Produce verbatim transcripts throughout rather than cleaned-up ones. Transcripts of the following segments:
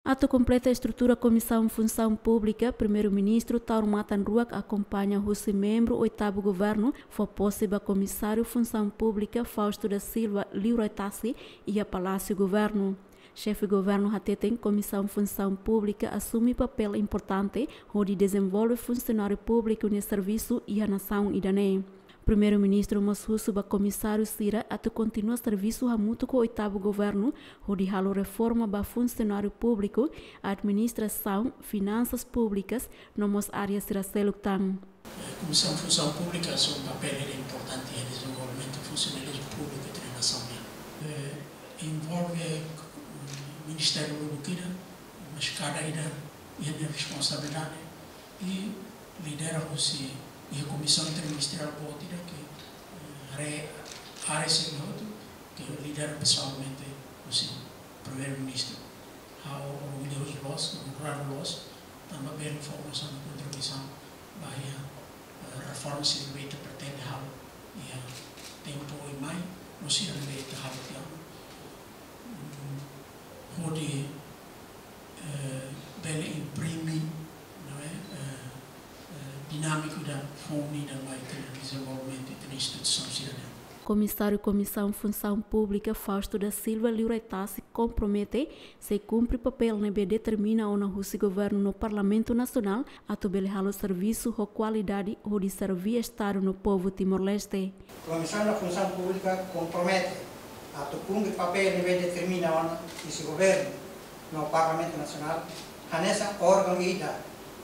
Atu kompleta estrutura Komisaun Funsaun Públika, Primeiru-Ministru Taur Matan Ruak akompaña husi membru oitavu governu fó pose ba Komisáriu Funsaun Públika Fausto da Silva liurai tasi iha Palásiu Governu. Xefe Governu hateten Komisaun Funsaun Públika asume papél importante hodi dezenvolve funsionáriu públiku nia servisu iha nasaun ida-ne'e. Primeiru-Ministru mós husu ba komisáriu sira atu kontinua servisu hamutuk ho oitavu governu hodi halo reforma ba funsionáriu públiku, administrasaun, finansas públikas, no mós área sira seluk tan. Komisaun Funsaun Públika assume papél ida importante iha dezenvolvimentu funsionalizmu públiku iha nasaun nian. Eh, envolve, mm, ministériu lubuk ida, mas kada ida iha nia responsabilidade i lidera husi iha komisaun interministeriál boot ida ke, eh, haree área sira hotu ke lidera pesoalmente husi Primeiru-Ministru. Ha'u orgullozu loos, onradu loos, tanba bele fó ha'u-nia kontribuisaun ba iha, eh, reforma sira ne'ebé ita pretende halo iha tempu oin mai, no sira ne'ebé ita halo tiha ona. Mm, hodi, eh, bele imprime, não é? Eh, eh, dinámiku ida foun ida ba ita-nia dezenvolvimentu iha instituisaun sira-ne'e. Komisáriu Komisaun Funsaun Públika Fausto da Silva liurai tasi kompromete sei kumpre papél ne'ebé determina ona husi governu no Parlamentu Nasionál atu bele halo servisu ho kualidade hodi serve Estadu no povu Timor-Leste. Komisaun Funsaun Públika kompromete atu kumpre papél ne'ebé determina ona husi governu no Parlamentu Nasionál, hanesan órgaun ida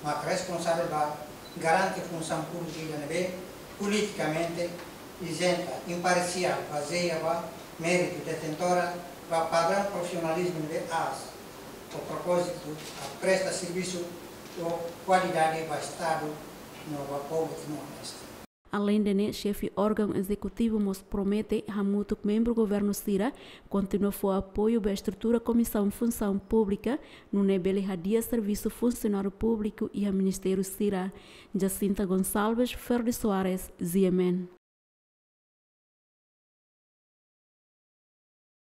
mak responsavel ba garante funsaun públika ida ne'ebé politikamente izenta, imparsiál, bazeia ba méritu, detentora ba padraun profisionalizmu ne'ebé aas, ho propózitu atu presta servisu ho kualidade ba Estadu no ba povu Timor-Leste. Aleinde ne'e, xefe órgaun ezekutivu mós promete hamutuk membru governu sira kontinua fó apoiu ba estrutura Komisaun Funsaun Públika, nune'e bele hadi'a servisu funsionáriu públiku iha ministériu sira. Jacinta Gonçalves, Ferdi Soares, G M N.